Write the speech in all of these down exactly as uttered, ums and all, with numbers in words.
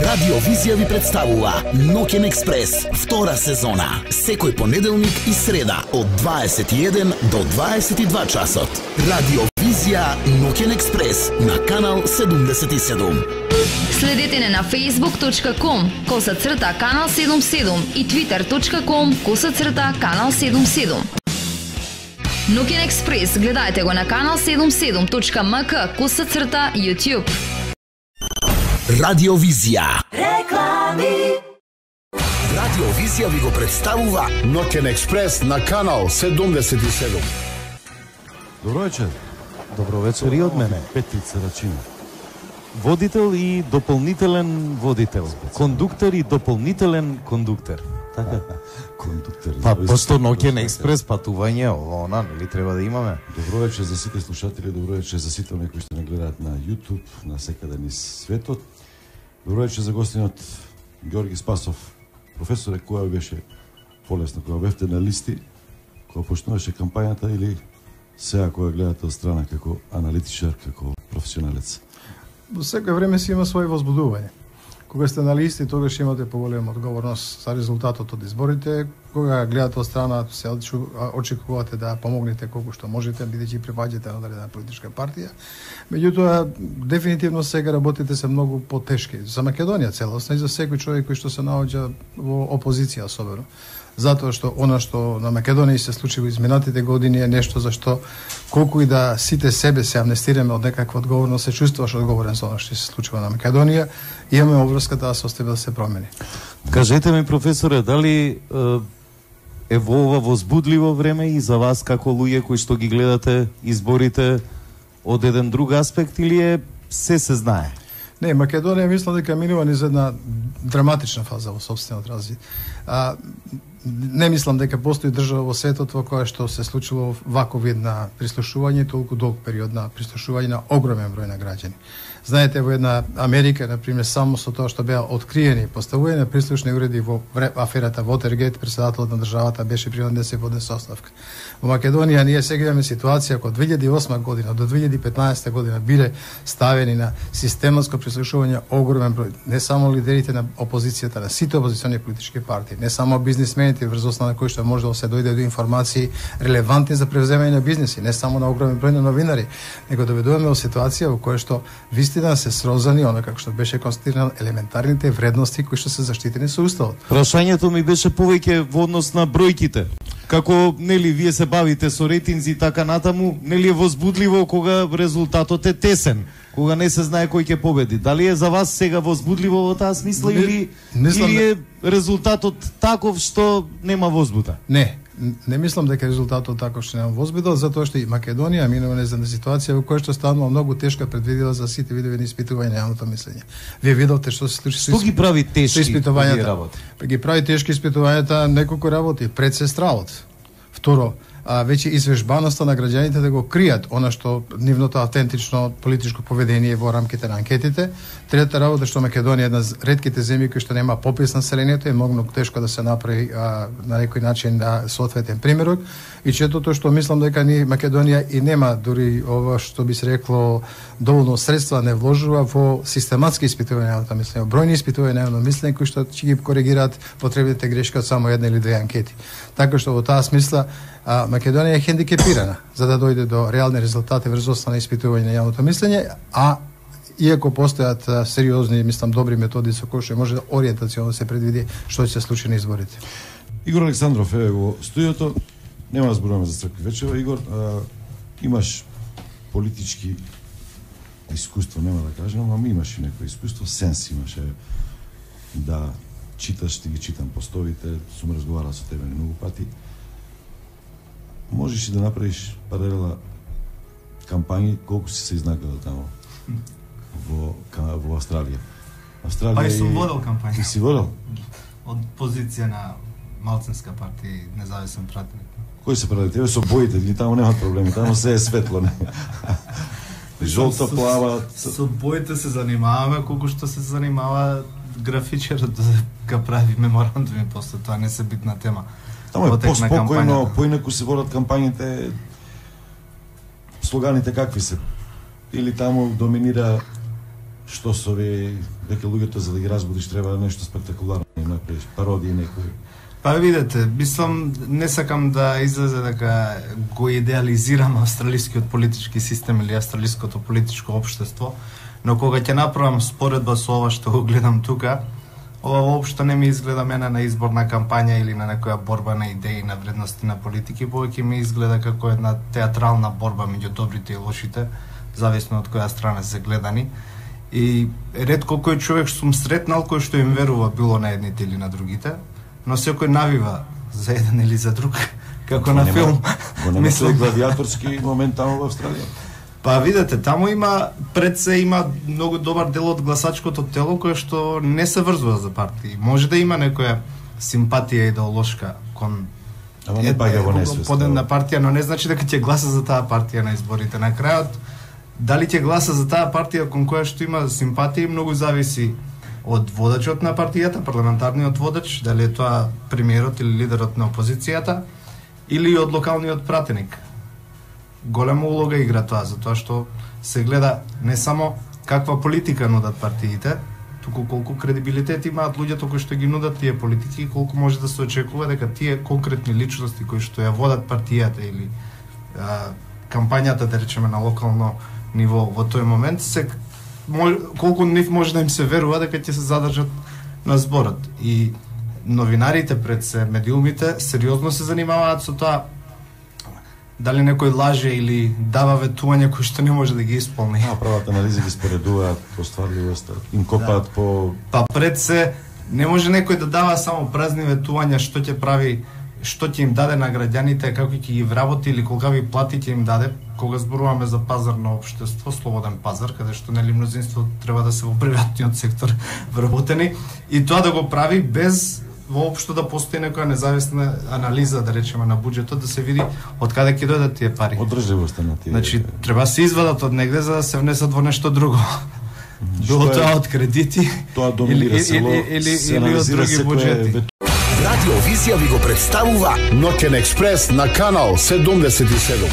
Радио Визија ви представува Ноќен експрес, втора сезона. Секој понеделник и среда од дваесет и еден до дваесет и два часот. Радио Визија Ноќен експрес на канал седумдесет и седум. Следете не на facebook точка com коса црта канал седумдесет и седум и twitter точка com коса црта канал седумдесет и седум. Ноќен експрес гледајте го на канал седумдесет и седум точка ем ка коса црта YouTube. Радио Визија. Реклами. Радио Визија ви го представува Ноќен експрес на канал седумдесет и седум. Добро вечер. Добро вечер и од мене. Петрица Рачина. Водител и дополнителен водител. Кондуктор и дополнителен кондуктор. Така. Кондуктор. Па пошто Ноќен експрес патување, она нели треба да имаме. Добро вечер за сите слушатели, добро вечер за сите оние кои што не гледаат на YouTube, на секаде низ светот. Добро вечер за гостинот Ѓорги Спасов. Професоре, која беше полесно, која бевте на листи, која почнуваше кампањата или сега која гледате од страна како аналитичар, како професионалец? Во секој време си има свој возбудување. Кога сте на листи, тогаш имате поголема одговорност за резултатот од изборите. Кога гледате од страна, се очекувате да помогнете колку што можете, бидејќи припаѓате на одредена политичка партија. Меѓутоа, дефинитивно сега работите се многу потешки. За Македонија целосно и за секој човек кој што се наоѓа во опозиција особено. Затоа што она што на Македонија се случи во изминатите години е нешто за што колку и да сите себе се амнестираме од некаква одговорност, се чувствуваш одговорен за она што се случува на Македонија, имаме обврската да се остави да се промени. Кажете ми, професоре, дали е во ова возбудливо време и за вас како луѓе кои што ги гледате изборите од еден друг аспект или е се се знае? Не, Македонија мислам дека минува низ една драматична фаза во собствениот развит. А, не мислам дека постои држава во светот во која што се случило ваков вид на прислушување, толку долг период на прислушување на огромен број на граѓани. Знаете, во една Америка, например, само со тоа што беа откриени поставување на прислушни уреди во аферата Watergate, председателот на државата беше принуден да се подаде оставка. Во Македонија ние сега имаме ситуација кога од две илјади и осма година до две илјади и петнаесета година биле ставени на систематско прислушување огромен број, не само лидерите на опозицијата, на сите опозициони политички партии, не само бизнисмените врз основа на кои што може да се дојде до информации релевантни за превземање на бизнеси, не само на огромен број на новинари, него доведуваме во ситуација во која што вистина се срозани, оно како што беше констатирано, елементарните вредности кои што се заштитени со уставот. Прашањето ми беше повеќе во однос на бројките. Како, нели, вие се бавите со рейтинзи и така натаму, нели е возбудливо кога резултатот е тесен, кога не се знае кој ќе победи. Дали е за вас сега возбудливо во таа смисла не, или, или е резултатот таков што нема возбуда? Не, не мислам дека резултатот таков што нема возбуда, затоа што и Македонија минува низ една ситуација во која што станува многу тешка предвидела за сите видови на испитување на јавното мислење. Вие видовте што се случи со Што ги прави тешки испитувањата? работи? Па ги прави тешки испитувањата неколку работи, пред се стравот. Второ, а, веќе извежбаноста на граѓаните да го кријат она што нивното автентично политичко поведение во рамките на анкетите. Трета работа што Македонија е една од ретките земји кои што нема попис на населението, е многу тешко да се направи а, на некој начин да соодветен примерок. И четото што мислам дека ни Македонија и нема дури ова што би се рекло доволно средства не вложува во систематски испитувања на мислење, бројни испитувања на мислење кои што ќе ги коригираат потребните грешки од само една или две анкети. Така што во таа смисла а, Македонија е хендикепирана за да дојде до реални резултати врз основа на испитување на јавното мислење, а иако постојат а, сериозни, мислам, добри методи со кои што може да ориентационо се предвиди што ќе се случи на изборите. Игор Александров е во студиото. Нема да зборуваме за цркви вечера. Игор, а, имаш политички искуство, нема да кажем, ама имаш и некој искуство, сенс имаше да читаш, ти ги читам постовите, сум разговарал со тебе многу пати. Можеш и да направиш паралела кампањи, колку си се изнагледал таму во, во Австралија. Австралија Па и сум водел кампања. Ти си водел? Од позиција на малцинска партија и независен пратеник. Кој се прави? Тебе со боите, или таму немаат проблеми, таму се е светло. Не? Жолта, плава... Со, со боите се занимаваме, колку што се занимава графичерот да ga прави меморандуми после тоа, не се битна тема. Таму е поспокојно, поинаку се водат кампањите, слоганите какви се? Или таму доминира што со ви дека луѓето за да ги разбудиш треба нешто спектакуларно, направиш пародии некои. Па видете, мислам, не сакам да излезе дека го идеализирам австралискиот политички систем или австралиското политичко општество, но кога ќе направам споредба со ова што го гледам тука, ова воопшто не ми изгледа мене на изборна кампања или на некоја борба на идеи, на вредности на политики, повеќе ми изгледа како една театрална борба меѓу добрите и лошите, зависно од која страна се гледани. И ретко кој човек што сум сретнал кој што им верува било на едните или на другите, но секој навива за еден или за друг, како на филм. Го нема тој гладиаторски момент таму во Австралија. Па видете, таму има, пред се има многу добар дел од гласачкото тело кој што не се врзува за партии. Може да има некоја симпатија идеолошка кон Ама не паѓа во несвест. Подедна партија, но не значи дека ќе гласа за таа партија на изборите. На крајот, дали ќе гласа за таа партија кон која што има симпатија, многу зависи од водачот на партијата, парламентарниот водач, дали е тоа премиерот или лидерот на опозицијата, или од локалниот пратеник. Голема улога игра тоа, затоа што се гледа не само каква политика нудат партиите, туку колку кредибилитет имаат луѓето кои што ги нудат тие политики и колку може да се очекува дека тие конкретни личности кои што ја водат партијата или а, кампањата, да речеме, на локално ниво во тој момент, се колку нив може да им се верува дека ќе се задржат на зборот. И новинарите пред се, медиумите, сериозно се занимаваат со тоа дали некој лаже или дава ветување кои што не може да ги исполни. А, прават анализи ги споредуваат по стварливоста, им копаат да. по... Па пред се, не може некој да дава само празни ветувања што ќе прави, што ќе им даде на граѓаните, како ќе ги вработи или колкави плати ќе им даде, кога зборуваме за пазарно општество, слободен пазар, каде што нели мнозинство треба да се во приватниот сектор вработени, и тоа да го прави без воопшто да постои некоја независна анализа, да речеме, на буџетот, да се види од каде ќе дојдат тие пари. Одржливоста на тие. Значи, треба се извадат од негде за да се внесат во нешто друго. Било тоа од кредити, тоа доминира село, или, или, или од други буџети. Радио Визија ви го представува Ноќен експрес на канал седумдесет и седум.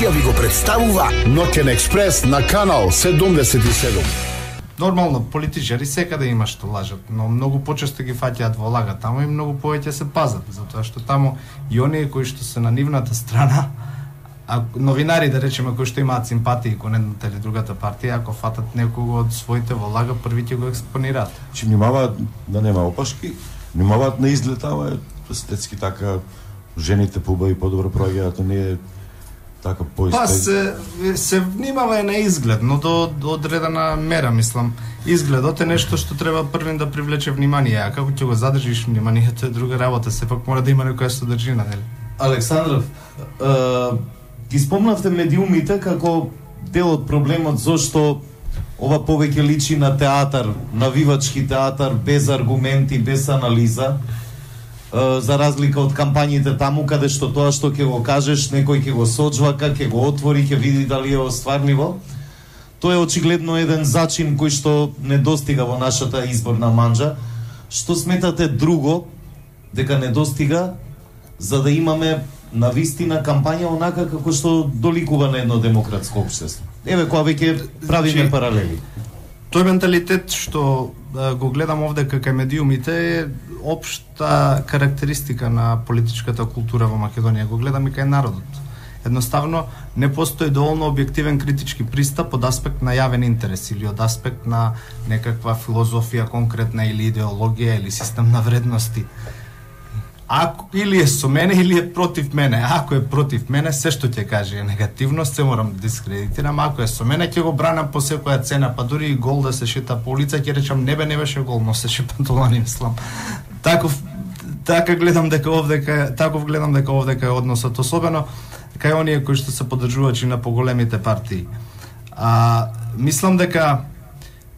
Ви го представува Ноќен експрес на канал седумдесет и седум. Нормално, политичари секаде има што лажат, но многу почесто ги фаќаат во лага таму и многу повеќе се пазат, затоа што таму и оние кои што се на нивната страна, а новинари, да речеме, кои што имаат симпатии кон едната или другата партија, ако фатат некого од своите во лага, први ќе го експонираат. Че внимаваат да нема опашки, внимаваат на изглед, ама естетски така жените побави подобро проаѓаат, оние така поиспед. Па се, се внимава на изглед, но до, до одредена мера, мислам. Изгледот е нешто што треба првин да привлече внимание, а како ќе го задржиш вниманието е друга работа, сепак мора да има некоја содржина, нели? Александров, е, ги спомнавте медиумите како дел од проблемот зошто ова повеќе личи на театар, навивачки театар, без аргументи, без анализа, за разлика од кампањите таму каде што тоа што ќе го кажеш некој ќе го соджвака, ќе го отвори, ќе види дали е остварливо. Тоа е очигледно еден зачин кој што не достига во нашата изборна манџа. Што сметате друго дека не достига за да имаме навистина кампања онака како што доликува на едно демократско општество? Еве кога веќе правиме паралели. Тој менталитет што да, го гледам овде кај медиумите е општа карактеристика на политичката култура во Македонија. Го гледам и кај народот. Едноставно не постои доволно објективен критички пристап од аспект на јавен интерес или од аспект на некаква филозофија конкретна или идеологија или систем на вредности. Ако или е со мене или е против мене. Ако е против мене, се што ќе каже е негативно, се морам да дискредитирам. Ако е со мене, ќе го бранам по секоја цена, па дури и гол да се шета по улица, ќе речам не бе, не беше гол, но се шепантолани, мислам. Таков така гледам дека овдека, таков гледам дека овдека е односот, особено кај оние кои што се поддржувачи на поголемите партии. А мислам дека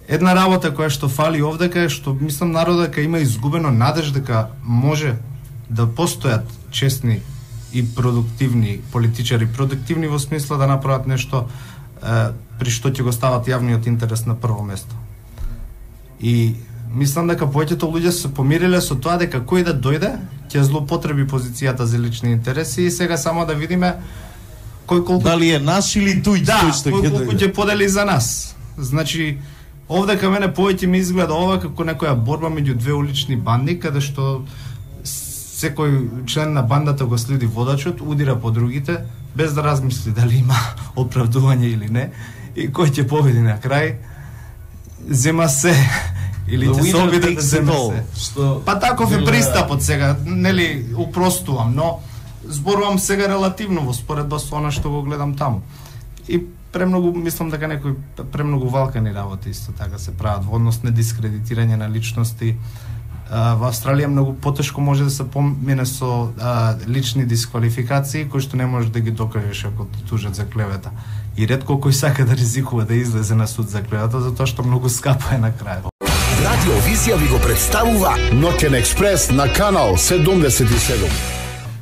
една работа која што фали овдека е што мислам народот дека има изгубено надеж дека може да постојат честни и продуктивни политичари, продуктивни во смисла да направат нешто е, при што ќе го стават јавниот интерес на прво место. И Мислам дека повеќето луѓе се помириле со тоа дека кој да дојде ќе злоупотреби позицијата за лични интереси и сега само да видиме кој колку дали е наш или туј да, тој што кој ќе колку ќе подели за нас. Значи овде кај мене повеќе ми изгледа ова како некоја борба меѓу две улични банди каде што секој член на бандата го следи водачот, удира по другите без да размисли дали има оправдување или не и кој ќе победи на крај зема се или ќе се обиде да земе се. Што Па таков е пристапот сега, нели, упростувам, но зборувам сега релативно во споредба со она што го гледам таму. И премногу мислам дека некои премногу валкани работи исто така се прават во однос на дискредитирање на личности. Uh, во Австралија многу потешко може да се помине со uh, лични дисквалификации кои што не можеш да ги докажеш ако те тужат за клевета. И ретко кој сака да ризикува да излезе на суд за клевета затоа што многу скапо е на крајот. Радио Визија ви го представува Ноќен експрес на канал седумдесет и седум.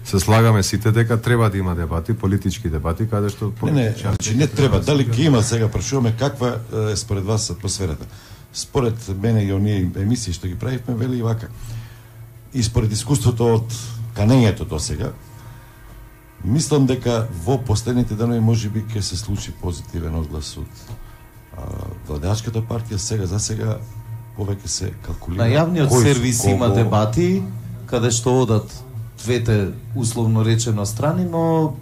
Се слагаме сите дека треба да има дебати, политички дебати, каде што Не, не, значи не треба. Дали ќе има сега прашуваме каква е според вас атмосферата? Според мене и оние емисии што ги правивме, вели и вака. И според искуството од канењето до сега, мислам дека во последните денови можеби ќе се случи позитивен одглас од а, владеачката партија. Сега за сега повеќе се калкулира. на јавниот кој сервис кого... има дебати каде што одат двете условно речено страни, но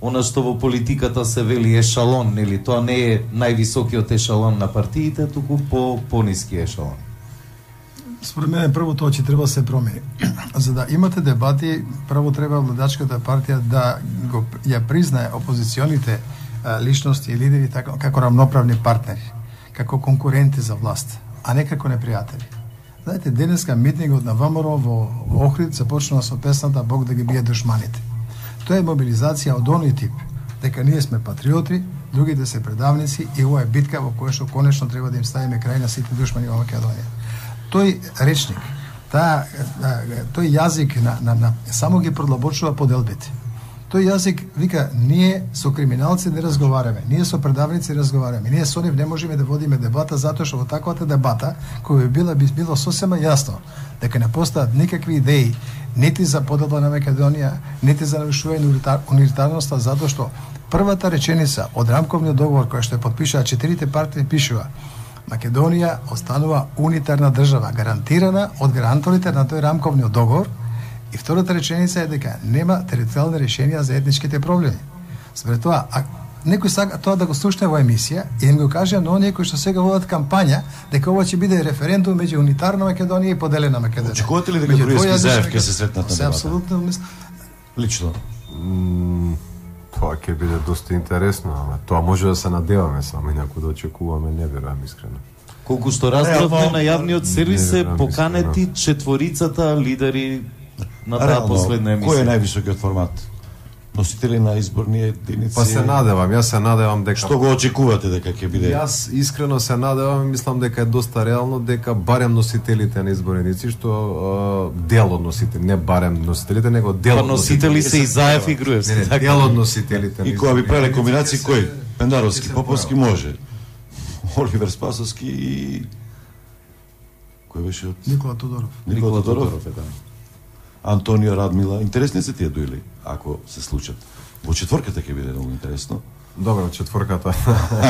она што во политиката се вели ешалон, нели, тоа не е највисокиот ешалон на партиите, туку по пониски ешалон. Според мене прво тоа ќе треба да се промени. За да имате дебати, прво треба владачката партија да го ја признае опозиционите а, личности и лидери така, како рамноправни партнери, како конкуренти за власт, а не како непријатели. Знаете, денеска митингот на ВМРО во Охрид започнува со песната Бог да ги бие душманите. Тоа е мобилизација од оној тип, дека ние сме патриоти, другите се предавници и ова е битка во која што конечно треба да им ставиме крај на сите душмани во Македонија. Тој речник, таа, тој јазик на, на, на, само ги продлабочува поделбите. Тој јазик вика, ние со криминалци не разговараме, ние со предавници разговараме, ние со нив не можеме да водиме дебата, затоа што во таквата дебата, која би била, би било сосема јасно, дека не постојат никакви идеи, нити за поделба на Македонија, нити за нарушување на унитарноста, затоа што првата реченица од рамковниот договор која што ја подпишаа четирите партии пишува Македонија останува унитарна држава, гарантирана од гаранторите на тој рамковниот договор. И втората реченица е дека нема територијални решенија за етничките проблеми. Според тоа, а некој сака тоа да го слушне во емисија и им го каже на оние кои што сега водат кампања дека ова ќе биде референдум меѓу унитарна Македонија и поделена Македонија. Очекувате ли дека Груевски и Заев ќе се сретнат на дебата? Апсолутно мислам. Лично. М, тоа ќе биде доста интересно, ама тоа може да се надеваме, само инаку да очекуваме, не верувам искрено. Колку што разбравме на јавниот сервис се верувам, поканети четворицата лидери на таа последна емисија. Кој е највисокиот формат? Носители на изборни единици? Па се надевам, јас се надевам дека Што го очекувате дека ќе биде? Јас искрено се надевам и мислам дека е доста реално дека барем носителите на избореници, што а, дел од носителите, не барем носителите, него дел Па од носители се и Заев и Груевски. Не, не, така. дел од носителите. на И кога би избореници правеле комбинации се- кој? Пендаровски, се Поповски прави. може. Оливер Спасовски и кој беше од Никола Тодоров. Никола Тодоров? е, да. Антонио Радмила. Интересни се тие дуели, ако се случат. Во четворката ќе биде многу интересно. Добро, четворката.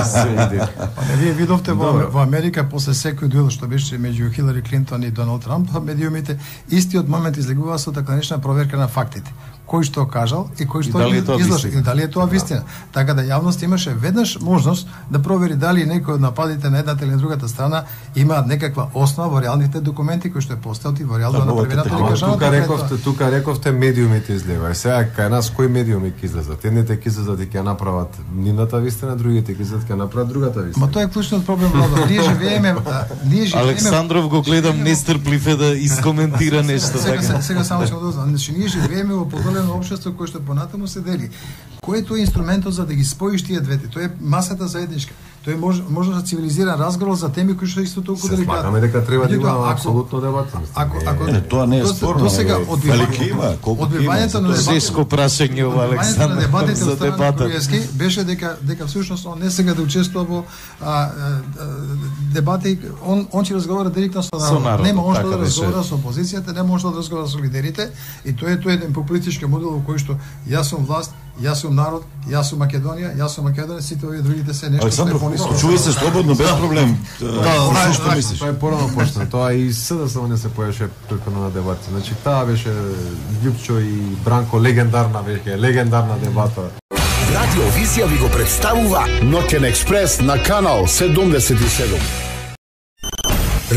Се иде. Па не вие видовте во, Добро. во Америка после секој дуел што беше меѓу Хилари Клинтон и Доналд Трамп, медиумите истиот момент излегува со така наречена проверка на фактите. Кој што кажал и кој што дали е тоа излоши, вистина. и дали е тоа вистина. Така да јавност имаше веднаш можност да провери дали некој од нападите на едната или на другата страна имаат некаква основа во реалните документи кои што е постојат и во реално Да, направената ова или Ама кажаната. тука пред рековте, тоа. тука рековте медиумите излева. И сега кај нас кои медиуми ќе излезат? Едните ќе излезат и ќе направат нивната вистина, другите ќе излезат ќе направат другата вистина. Ма тоа е клучниот проблем, Владо. Ние живееме, а, ние живееме. Александров го гледам нестрплив е да искоментира нешто Сега, сега, така. сега само ќе го дознам. Значи, ние живееме во поделено општество кое што понатаму се дели. Кој е тој инструментот за да ги споиш тие двете? Тоа е масата заедничка. Тој може може да цивилизиран разговор за теми кои што исто толку деликатни. Се слагаме дека треба да има Меѓутоа, ако- апсолутно дебата. Ако ако Не, тоа не е до- спорно, До сега ама, одбивање велики има, колку има, одбивањето на затоа Тешко прашање ова, Одбивањето на Александр, дебатите за од страна на дебата. Груевски беше дека дека всушност он не сега да учествува во а, а, а, дебати, он он ќе разговара директно со Со народот. народот, Нема он што така да беше. разговара со опозицијата, нема он што да разговара со лидерите, и тоа е тоа е еден популистички модел во кој што јас сум власт, јас сум народ, јас сум Македонија, јас сум Македонија, сите овие другите се нешто Александров, што е пониско. чуј се слободно, без проблем. Да, Знаеш што мислиш? Тоа е порано почна. Тоа и СДС не се појаше претходно на дебати. Значи таа беше Љупчо и Бранко легендарна веќе, легендарна дебата. Радио Визија ви го представува Ноќен експрес на канал седумдесет и седум.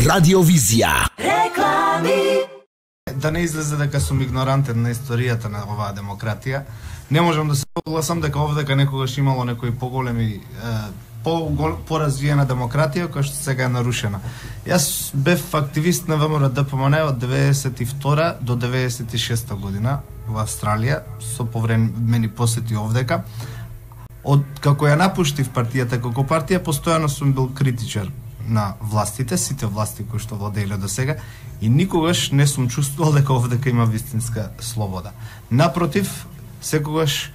Радио Визија. Реклами. Да не излезе дека сум игнорантен на историјата на оваа демократија, не можам да се согласам дека овдека некогаш имало некои поголеми е, по поразвиена демократија која што сега е нарушена. Јас бев активист на ВМРО Д П М Н од деветдесет и втора до деветдесет и шеста година во Австралија, со повремени посети овдека. Од како ја напуштив партијата како партија, постојано сум бил критичар на властите, сите власти кои што владееле до сега, и никогаш не сум чувствувал дека овдека има вистинска слобода. Напротив, секогаш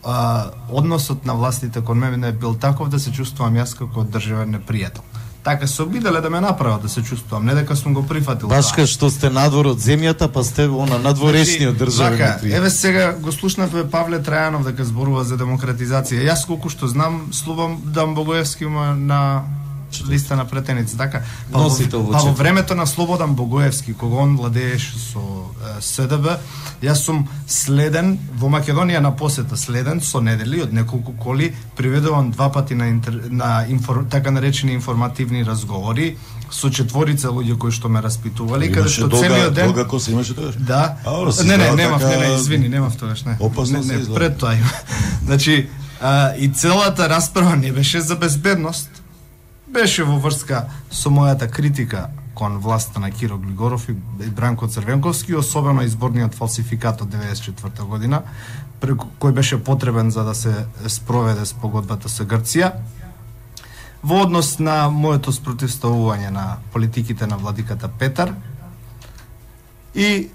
а, односот на властите кон мене бил таков да се чувствувам јас како државен непријател. Така се обиделе да ме направат да се чувствувам, не дека сум го прифатил. Баш тоа. кај што сте надвор од земјата, па сте она надворешниот државен Вака, непријател. еве сега го слушнавме Павле Трајанов дека зборува за демократизација. Јас колку што знам, Слободан Богоевски има на листа на претеници, така? Па, Носител во во, па во четврт. времето на Слободан Богоевски, кога он владееше со е, С Д Б, јас сум следен во Македонија на посета, следен со недели од неколку коли, приведуван два пати на, интер, на инфор, така наречени информативни разговори со четворица луѓе кои што ме распитували, каде Имаше што долга, целиот ден долга коса имаше тогаш? Да. А, ора, се не, не, изгледа немав, така- не, не, извини, немав тогаш, не. Опасно не, се не, изгледа. пред тоа има. Значи, а, и целата расправа не беше за безбедност, беше во врска со мојата критика кон власта на Киро Глигоров и Бранко Црвенковски, особено изборниот фалсификат од деветдесет и четврта година, преку кој беше потребен за да се спроведе спогодбата со Грција. Во однос на моето спротивставување на политиките на владиката Петар и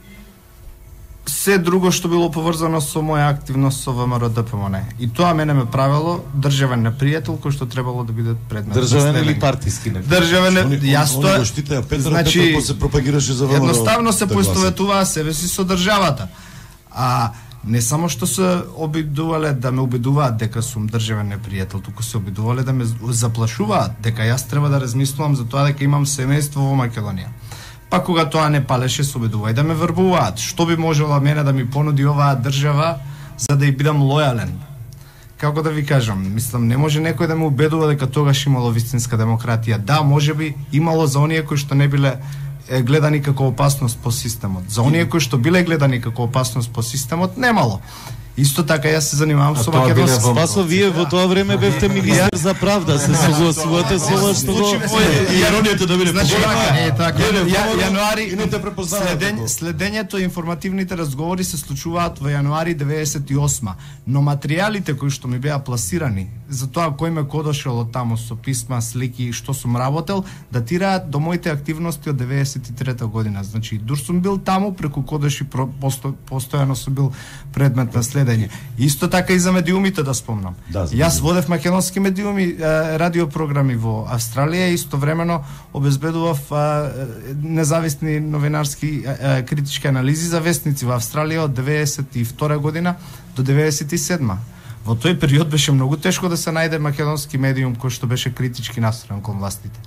се друго што било поврзано со моја активност со ВМРО Д П М Н. И тоа мене ме правело државен непријател кој што требало да биде предмет на Државен следење. или партиски непријател? Државен, Они- јас они тоа. го штитеа Петар, значи, Петар после пропагираше за ВМРО Едноставно се да гласа. поистоветуваа себе си со државата. А не само што се обидувале да ме убедуваат дека сум државен непријател, туку се обидувале да ме заплашуваат дека јас треба да размислувам за тоа дека имам семејство во Македонија. Па кога тоа не палеше, се обидуваат да ме врбуваат. Што би можела мене да ми понуди оваа држава за да ја бидам лојален? Како да ви кажам, мислам, не може некој да ме убедува дека тогаш имало вистинска демократија. Да, можеби имало за оние кои што не биле е, гледани како опасност по системот. За оние кои што биле гледани како опасност по системот, немало. Исто така јас се занимавам со тоа биле македонски. во- Спасо, вие во тоа време бевте министер за правда, се согласувате со ова што го... Иронијата да биде Значи, погодна. е така. Биде Ја, погодна јануари и не те препознаваат следење, како. следењето и информативните разговори се случуваат во јануари деветдесет и осма, но материјалите кои што ми беа пласирани за тоа кој ме кодошел од таму со писма, слики, што сум работел, датираат до моите активности од деветдесет и трета година. Значи, дур сум бил таму преку кодоши про- посто, постојано сум бил предмет на следење. Исто така и за медиумите да спомнам. Да, за Јас медиуми. водев македонски медиуми, е, радиопрограми во Австралија и истовремено обезбедував е, независни новинарски е, е, критички анализи за вестници во Австралија од деветдесет и втора година до деветдесет и седма. Во тој период беше многу тешко да се најде македонски медиум кој што беше критички настроен кон властите.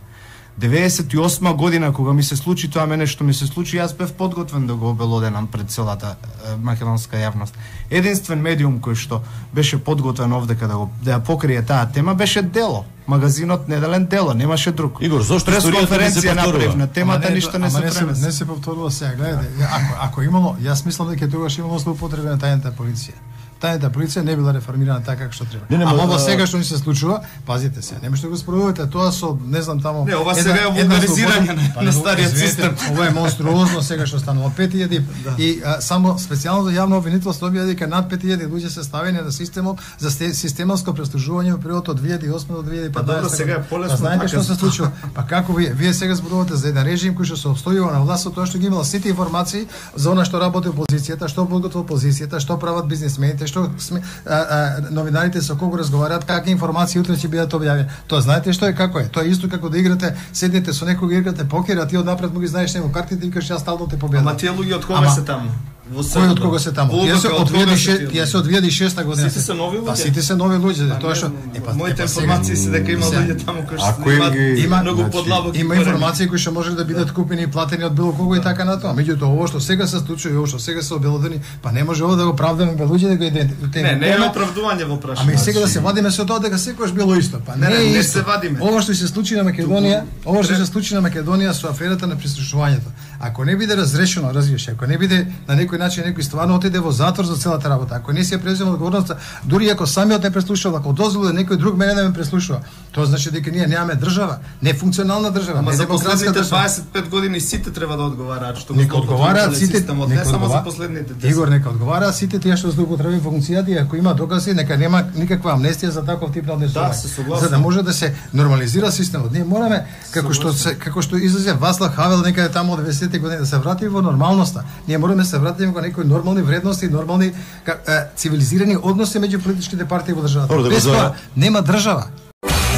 деветдесет и осма година кога ми се случи тоа мене што ми се случи, јас бев подготвен да го обелоденам пред целата е, македонска јавност. Единствен медиум кој што беше подготвен овдека да го да ја покрие таа тема беше Дело. Магазинот Неделен Дело, немаше друг. Игор, зошто историјата не се пресконференција повторува? направив на темата, Ама не, ништо не ама се не се, пренесе. не се повторува сега. Гледате, ако ако имало, јас мислам дека тогаш имало злоупотреба на тајната полиција. тајната полиција не била реформирана така како што треба. Не, не, Ама во а- сега што ни се случува, пазите се, нема што го спроводите, тоа со не знам таму. Не, ова сега е вулгаризирање на, на стариот систем. Ова е монструозно сега што станува пет илјади и а, само специјално за јавно обвинителство објави дека над пет илјади луѓе се ставени на системот за сте- систематско преслужување во периодот од две илјади и осма до две илјади и петнаесета. Па добро, сега е полесно Па знаете така. што се случува? Па како вие вие сега зборувате за еден режим кој што се обстојува на власт, тоа што ги имала сите информации за она што работи опозицијата, што подготвува опозицијата, што прават бизнисмените, што сме, а, а, новинарите со кого разговараат, какви информации утре ќе бидат објавени. Тоа знаете што е како е? Тоа е исто како да играте, седнете со некој играте покер, а ти однапред му ги знаеш него картите и викаш јас стално те победам. Ама тие луѓе од кога Ама- се таму? Во Кој од кога се таму? Во Тие се Лука, од кога се две илјади и шеста, тие тие луѓе? се од две илјади и шеста година. Сите се нови Па луѓе? сите се нови луѓе, Па тоа не, што е па моите е, па сега- информации се дека има сега- луѓе таму кои Ако што им имаат ги- Има- многу значи, подлабоки Има корени. информации кои што може да бидат купени и платени од било кого и така натаму. Меѓутоа ово што сега се случува и ово што сега се обелодени, па не може ово да го правдаме бе луѓе да го идентифицираме. Не, не е оправдување во прашање. Ами и сега да се вадиме со тоа дека секогаш било исто. Па не, Не, не, е не исто. се вадиме. Ова што се случи на Македонија, ова што се случи на Македонија со аферата на прислушувањето. Ако не биде разрешено, разбираш, ако не биде на некој начин некој стварно отиде во затвор за целата работа, ако не се презема одговорноста, дури ако самиот не преслушува, ако дозволи да некој друг мене да ме преслушува, тоа значи дека ние немаме држава, не функционална држава, Ама не за демократска последните држава. дваесет и пет години сите треба да одговараат што го Нека одговараат сите, системот, не нека само за одговара- последните десет. Игор, нека одговараат сите тие што злоупотребени функцијата и ако има докази, нека нема никаква амнестија за таков тип на однесување. Да, се согласен. За да може да се нормализира системот. Ние мораме како што се како што излезе Васлав Хавел некаде таму од деветдесетте години да се вратиме во нормалноста. Ние мораме да се вратиме во некои нормални вредности, нормални ка, е, цивилизирани односи меѓу политичките партии во државата. Добро, да го Без зова. тоа нема држава.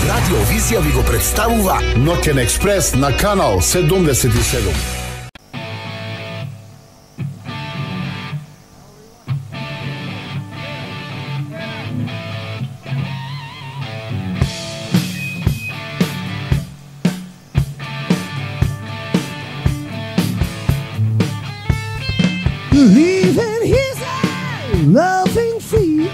Радио Визија ви го представува Ноќен експрес на канал седумдесет и седум. Leaving his eye, loving free,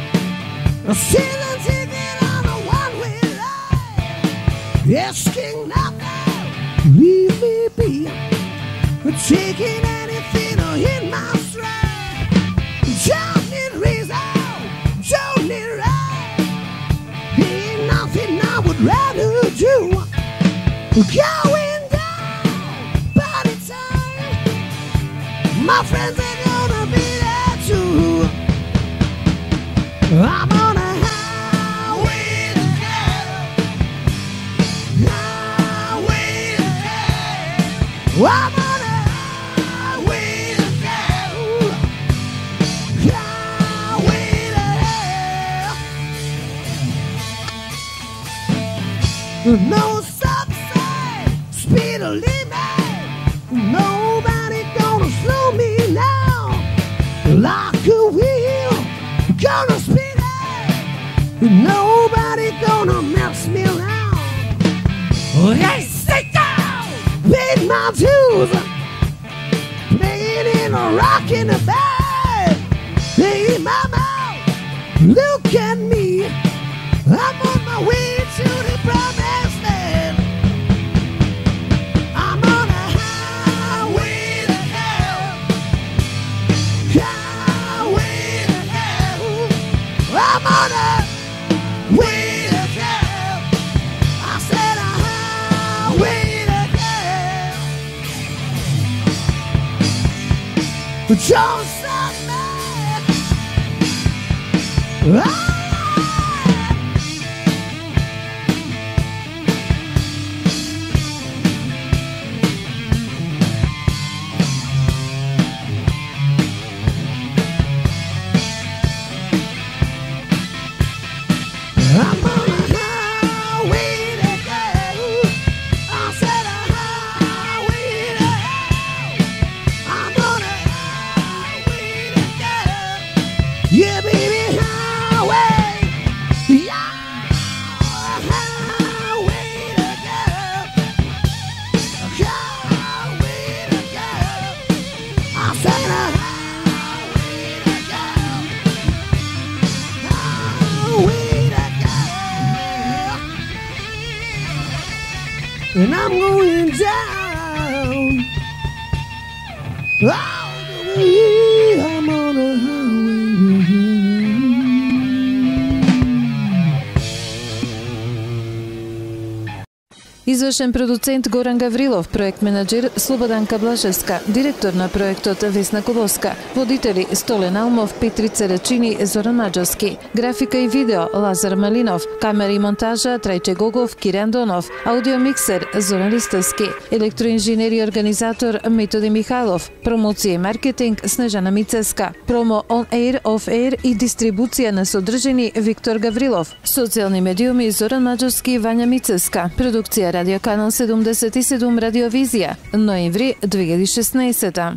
a season ticket on a one-way ride, asking nothing, leave me be, taking anything in my stride. Don't need reason, don't need right, ain't nothing I would rather do. Going down, party time, my friends are gonna be there too. I'm on a highway to hell, highway to hell. I'm on a highway to hell, highway to hell. No stop sign, speed limit, nobody gonna slow me now. Like a wheel, gonna spin it, nobody gonna mess me around. Hey, sit down, paid my dues, playing in a rockin' a bed. Hey, mama, look at me, I'm on my way to the promised land. I'm on a highway to hell, highway to hell. I'm on a way to hell. I said a highway to hell. But don't stop me. Ah! I'm on a highway to hell. I said a highway to hell. I'm on a highway to hell. Yeah, baby, highway. Yeah, highway to hell. Highway to hell. I said a highway to hell. Highway to hell. And I'm going down. All the way, I'm on a highway to hell. Извршен продуцент Горан Гаврилов, проект менаџер Слободан Каблашевска, директор на проектот Весна Колоска, водители Столен Алмов, Петрица Рачини, Зоран Маџовски, графика и видео Лазар Малинов, камера и монтажа Трајче Гогов, Киран Донов, аудиомиксер Зоран Ристовски, електроинженер и организатор Методи Михайлов, промоција и маркетинг Снежана Мицеска, промо on air, off air и дистрибуција на содржини Виктор Гаврилов, социјални медиуми Зоран Маџовски и Вања Мицеска, продукција Радио Канал седумдесет и седум Радиовизија, ноември две илјади и шеснаесета.